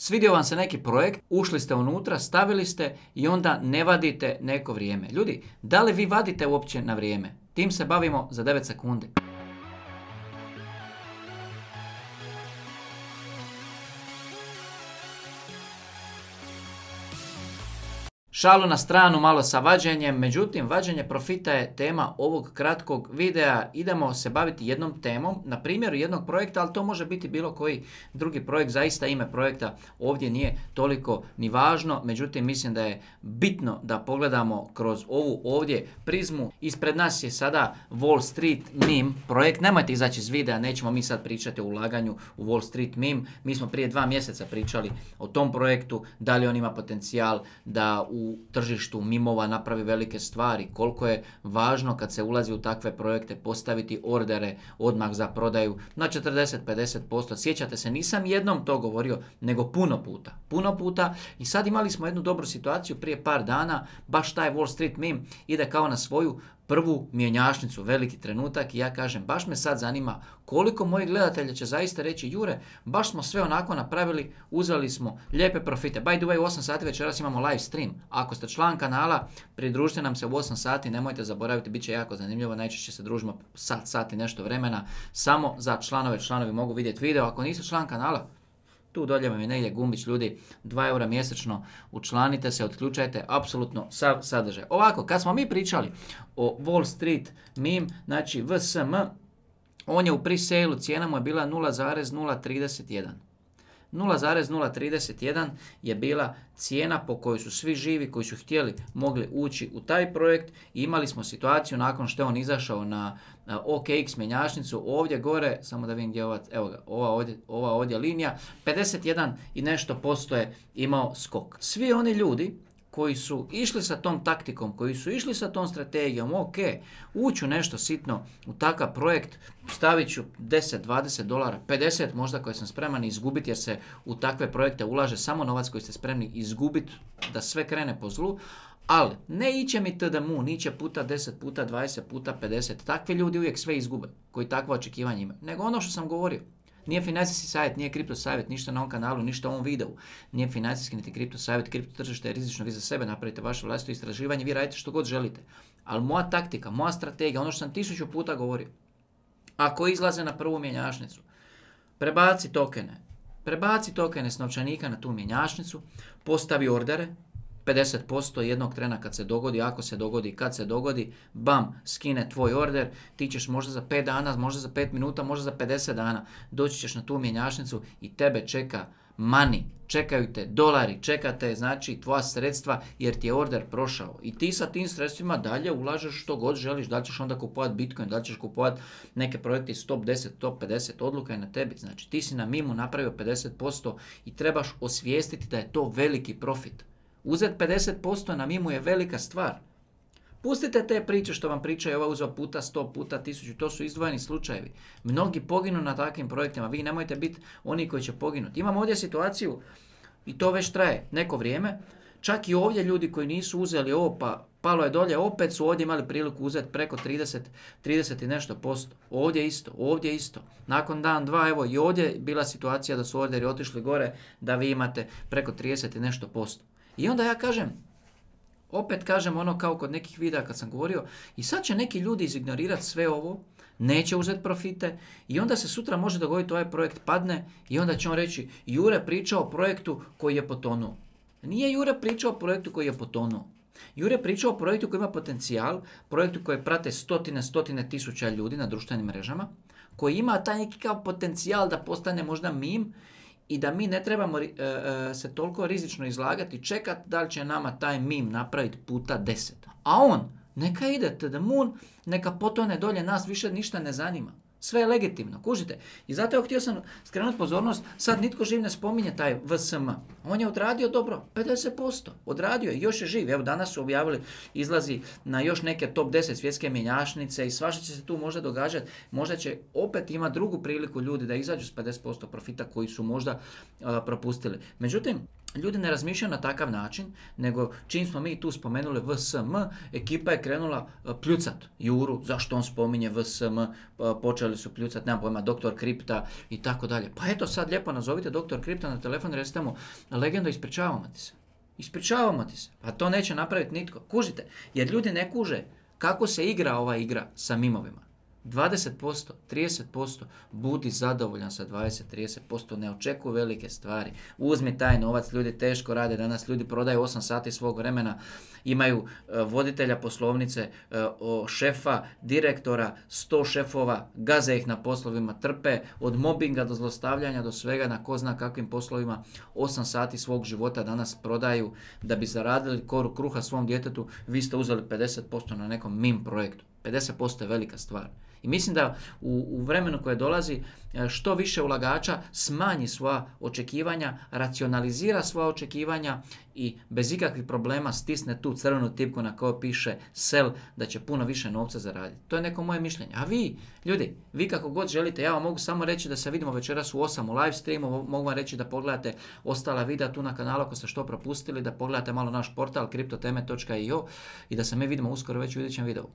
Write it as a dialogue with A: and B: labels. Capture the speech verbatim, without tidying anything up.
A: Svidio vam se neki projekt, ušli ste unutra, stavili ste i onda ne vadite neko vrijeme. Ljudi, da li vi vadite uopće na vrijeme? Tim se bavimo za devet sekundi. Šalu na stranu malo sa vađenjem, međutim vađenje profita je tema ovog kratkog videa. Idemo se baviti jednom temom, na primjeru jednog projekta, ali to može biti bilo koji drugi projekt, zaista ime projekta ovdje nije toliko ni važno, međutim mislim da je bitno da pogledamo kroz ovu ovdje prizmu. Ispred nas je sada Wall Street meme projekt, nemojte izaći iz videa, nećemo mi sad pričati o ulaganju u Wall Street meme, mi smo prije dva mjeseca pričali o tom projektu, da li on ima potencijal da u u tržištu mimova napravi velike stvari, koliko je važno kad se ulazi u takve projekte postaviti ordere odmah za prodaju na četrdeset do pedeset posto. Sjećate se, nisam jednom to govorio, nego puno puta. Puno puta i sad imali smo jednu dobru situaciju prije par dana, baš taj Wall Street meme ide kao na svoju prvu mjenjačnicu, veliki trenutak i ja kažem, baš me sad zanima koliko mojih gledatelja će zaista reći, Jure, baš smo sve onako napravili, uzeli smo lijepe profite. By the way, u osam sati večeras imamo live stream. Ako ste član kanala, pridružite nam se u osam sati, nemojte zaboraviti, bit će jako zanimljivo, najčešće se družimo sat, sat i nešto vremena, samo za članove, članovi mogu vidjeti video. Ako niste član kanala, tu dolje vam je negdje gumbić, ljudi, dva eura mjesečno, učlanite se, otključajte apsolutno sav sadržaj. Ovako, kad smo mi pričali o Wall Street meme, znači V S M, on je u pre-sale-u, cijena mu je bila nula zarez nula trideset jedan. nula zarez nula trideset jedan je bila cijena po kojoj su svi živi koji su htjeli mogli ući u taj projekt i imali smo situaciju nakon što je on izašao na, na O K X mjenjačnicu, ovdje gore, samo da vidim gdje je ova, evo ga, ova ovdje, ova ovdje linija, pedeset jedan i nešto posto je imao skok. Svi oni ljudi koji su išli sa tom taktikom, koji su išli sa tom strategijom, ok, uću nešto sitno u takav projekt, stavit ću deset, dvadeset dolara, pedeset možda koje sam spreman izgubiti jer se u takve projekte ulaže samo novac koji ste spremni izgubiti da sve krene po zlu, ali ne iće mi T D M U, niće puta deset, puta dvadeset, puta pedeset, takvi ljudi uvijek sve izgube koji takva očekivanja imaju, nego ono što sam govorio. Nije financijski savjet, nije kripto savjet, ništa na ovom kanalu, ništa u ovom videu. Nije financijski niti kripto savjet, kripto tržište je rizično, vi za sebe napravite vaše vlastito istraživanje, vi radite što god želite. Ali moja taktika, moja strategija, ono što sam tisuću puta govorio, ako izlaze na prvu mjenjačnicu, prebaci tokene, prebaci tokene s novčanika na tu mjenjačnicu, postavi ordere, pedeset posto jednog trena kad se dogodi, ako se dogodi, kad se dogodi, bam, skine tvoj order, ti ćeš možda za pet dana, možda za pet minuta, možda za pedeset dana, doći ćeš na tu mjenjačnicu i tebe čeka money, čekaju te dolari, čekate znači tvoja sredstva jer ti je order prošao i ti sa tim sredstvima dalje ulažeš što god želiš, da li ćeš onda kupovati Bitcoin, da li ćeš kupovati neke projekte iz top deset, top pedeset, odluka je na tebi, znači ti si na mimu napravio pedeset posto i trebaš osvijestiti da je to veliki profit. Uzeti pedeset posto na mimu je velika stvar. Pustite te priče što vam pričaju ova uzeo puta sto, puta tisuću, to su izdvojeni slučajevi. Mnogi poginu na takvim projektima, vi nemojte biti oni koji će poginuti. Imamo ovdje situaciju i to već traje neko vrijeme, čak i ovdje ljudi koji nisu uzeli ovo pa palo je dolje, opet su ovdje imali priliku uzeti preko trideset, trideset i nešto posto. Ovdje isto, ovdje isto. Nakon dan, dva, evo i ovdje je bila situacija da su orderi otišli gore, da vi imate preko trideset i nešto posto. I onda ja kažem, opet kažem ono kao kod nekih videa kad sam govorio, i sad će neki ljudi izignorirati sve ovo, neće uzeti profite i onda se sutra može dogoditi ovaj projekt padne i onda će on reći, Jure pričao o projektu koji je potonuo. Nije Jure pričao o projektu koji je potonuo. Jure pričao o projektu koji ima potencijal, projektu koji prate stotine, stotine tisuća ljudi na društvenim mrežama, koji ima taj neki kao potencijal da postane možda meme i da mi ne trebamo uh, uh, se toliko rizično izlagati, čekati da li će nama taj meme napraviti puta deset. A on, neka ide to the moon, neka potone dolje, nas više ništa ne zanima. Sve je legitimno, kužite. I zato ja htio sam skrenuti pozornost, sad nitko živ ne spominje taj V S M. On je odradio dobro, pedeset posto. Odradio je, još je živ. Evo danas su objavili, izlazi na još neke top deset svjetske mjenjačnice i svašta će se tu možda događati. Možda će opet ima drugu priliku ljudi da izađu s pedeset posto profita koji su možda uh, propustili. Međutim, ljudi ne razmišljaju na takav način, nego čim smo mi tu spomenuli V S M, ekipa je krenula pljucat Juru, zašto on spominje V S M, počeli su pljucat, nemam pojma, doktor Kripta i tako dalje. Pa eto sad lijepo nazovite doktor Kripta na telefon i recite mu, legendo, ispričavamo ti se. Ispričavamo ti se. Pa to neće napraviti nitko. Kužite, jer ljudi ne kuže kako se igra ova igra sa mimovima. dvadeset posto, trideset posto, budi zadovoljan sa dvadeset do trideset posto, ne očekuj velike stvari. Uzmi taj novac, ljudi teško rade, danas ljudi prodaju osam sati svog vremena, imaju uh, voditelja poslovnice, uh, šefa, direktora, sto šefova, gaze ih na poslovima, trpe od mobinga do zlostavljanja do svega na ko zna kakvim poslovima, osam sati svog života danas prodaju da bi zaradili koru kruha svom djetetu, vi ste uzeli pedeset posto na nekom mim projektu. pedeset posto je velika stvar. I mislim da u, u vremenu koje dolazi što više ulagača smanji svoja očekivanja, racionalizira svoja očekivanja i bez ikakvih problema stisne tu crvenu tipku na kojoj piše sell, da će puno više novca zaraditi. To je neko moje mišljenje. A vi, ljudi, vi kako god želite, ja vam mogu samo reći da se vidimo večeras u osam u live streamu, mogu vam reći da pogledate ostala videa tu na kanalu ako ste što propustili, da pogledate malo naš portal kriptoteme točka i o i da se mi vidimo uskoro već u idućem videu.